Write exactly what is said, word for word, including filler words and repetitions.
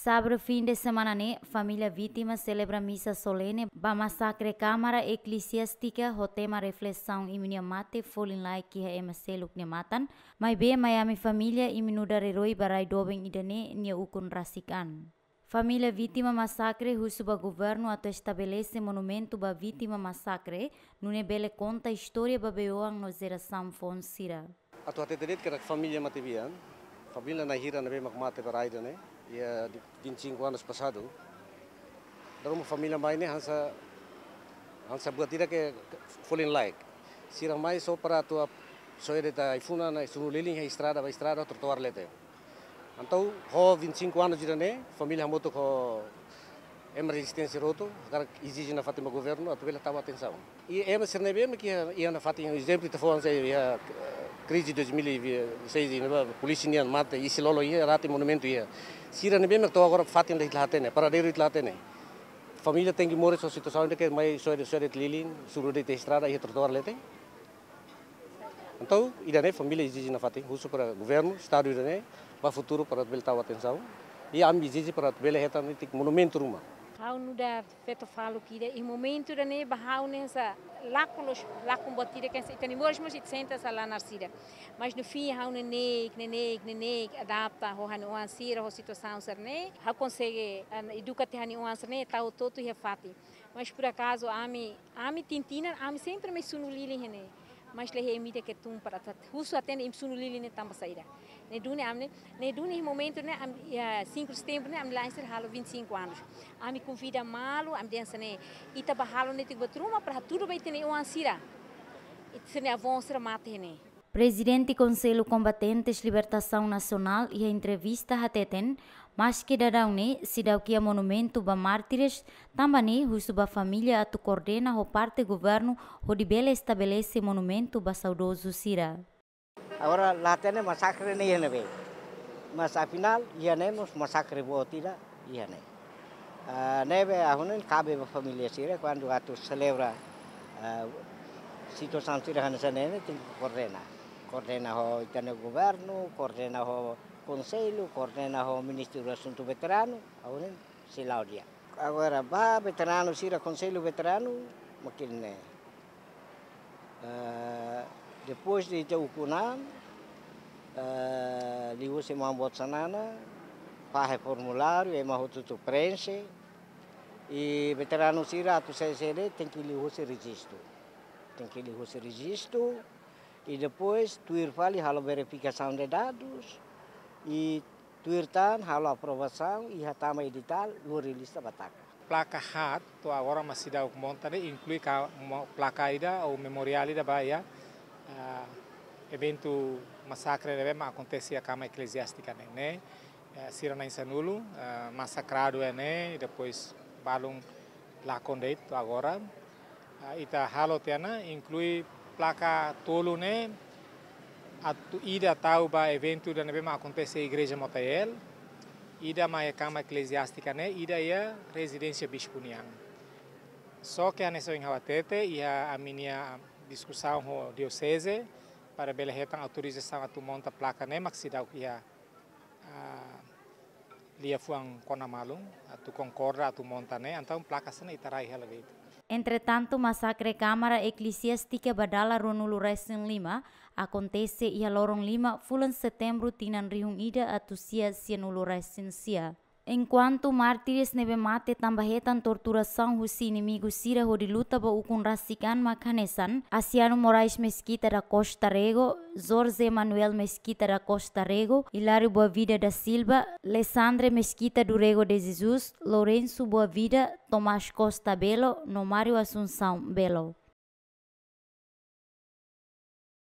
Sexta-feira fin de semana ne'e, família vítima selebra misa solene ba masakre Kámara Eklesiástika ho tema reflesaun imi-nia mate folin-laek iha ema seluk nia matan, maibé mai ami família imi nu'udar eroi ba rai doben ida-ne'e nia ukun rasik an. Família vítima masakre husu ba governu atu estabelese monumentu ba vítima masakre, nune'e bele konta istória ba bei-oan no jerasaun foun sira. Atu hatete de'it katak família matebian, família na'in hira ne'ebé mak mate ba rai ida-ne'e, iha vinte e cinco anos pasadu. Dala ruma família mai ne'e hanesan, hanesan buat ida ke folin-laek. Sira mai só para atu ap-, soe de'it ai-funan, sunu lilin iha estrada, ba estrada, trotoar leten. Entaun, ho vinte e cinco anos ida-ne'e, família hamutuk ho ema rezisténsia hotu, hakarak ezije nafatin ba governu atu bele tau atensaun. I ema sira ne'ebé mak iha, iha nafatin, ezemplu ita fó hanesan iha, eh, krize dois mil e seis ne'ebá, polísia nian mate, isin-lolon iha, rate monumentu iha. Sira ne'ebé mak to'o agora fatin ida la hatene, paradeiru ida la hatene. Família tenke moris ho situasaun ida ke mai soe de'it, soe de'it lilin, sunu de'it estrada, iha trotoar leten. Entaun, ida-ne'e família ezije nafatin, husu para governu, estadu ida-ne'e, ba futuru para bele tau atensaun. I ami ezije para bele hetan netik monumentu ruma. Ha'u nu'udar feto faluk ida, iha momentu ida-ne'e ba ha'u ne'e hanesan lakon loos, lakon buat ida ke hanesan ita-nia moris mós ita sente hanesan la naran sira. Mas no fim ha'u neineik, neineik, neineik, adapta ho ha'u-nia oan sira, ho situasaun sira-ne'e. Ha'u konsege, ah, eduka tiha ha'u-nia oan sira-ne'e, tau hotu-hotu iha fatin. Mas por acaso, ami, ami tinan-tinan, ami sempre mai sunu lilin iha-ne'e. Mas la iha ema ida ke tun para atu husu hatene imi sunu lilin ne'e tanba saida. Ne'e duni ami ne'e, ne'e duni momentu ne'e, ami, iha cinco de setembro ne'e, ami la'en sira halo vinte e cinco anos. Ami konvida malu, ami dehan hanesan ne'e, ita ba halo netik buat ruma para hatudu ba ita-nia oan sira. Ita sira-nia avó sira mate iha-ne'e. Prezidente Konsellu Kombatentes Libertasaun Nasionál iha entrevista hateten, maske daudaun ne'e seidauk iha monumentu ba mártires, tanba ne'e husu ba família atu koordena ho parte governu hodi bele estabelese monumentu ba saudozu sira. Agora la hatene masakre ne'e iha ne'ebé. Mas afinál, iha ne'e mós masakre boot ida iha ne'e. Ah, ne'ebé ha'u hanoin kabe ba família sira, kuandu atu selebra, ah, situasaun sira hanesan ne'e, tenke koordena. Koordena ho ita-nia governu, koordena ho konsellu, koordena ho Ministériu Asuntu Veteranu, ha'u hanoin sei la'o di'ak. Agora, ba veteranu sira, konsellu veteranu, mak ne'e. Eh, depois de ita ukun an, eh, liuhusi maun boot Xanana, fahe formuláriu, ema hotu-hotu preenxe, i veteranu sira atu sai sede tenke liuhusi rejistu. Tenke liuhusi rejistu, i depois tuir fali halo verifikasaun de dadus, i tuir tan halo aprovasaun, i hatama editál, lori lista ba taka. Plaka haat, to'o agora mak seidauk monta ne'e, inklui ka mo-, plaka ida, ou memoriál ida ba iha, ah, eventu masakre ne'ebé mak akontese iha Kámara Eklesiástika ne'e, ne'e, eh, sira na'in sanulu, eh, masakradu iha ne'e, i depois balun lakon de'it to'o agora. Ah, ita halo tiha ona, inklui plaka tolu ne'e, atu ida tau ba eventu ida ne'ebé mak akontese iha Igreja Motael, ida mai Kámara Eklesiástika ne'e, ida iha rezidénsia bispu nian. Só ke hanesan ohin ha'u hatete, iha ami-nia diskusaun ho dioseze, para bele hetan autorizasaun atu monta plaka ne'e mak seidauk iha, ah, liafuan kona malu, atu konkorda, atu monta ne'e, entaun plaka sira-ne'e ita rai hela de'it. Entretantu, masakre Kámara Eklesiástika ba dala ruanulu-resin-lima akontese iha loron lima fulan Setembru tinan rihun ida atus sia sianulu-resin-sia. Enkuantu mártires ne'ebé mate tanba hetan torturasaun husi inimigu sira hodi luta ba ukun rasik an mak hanesan Asiano Moraes Mesquita da Costa Rego, Jorge Manuel Mesquita da Costa Rego, Hilário Boavida da Silva, Lessandre Mesquita do Rego de Jesus, Lourenço Boavida, Tomás Costa Belo, no Mário Assunção Belo.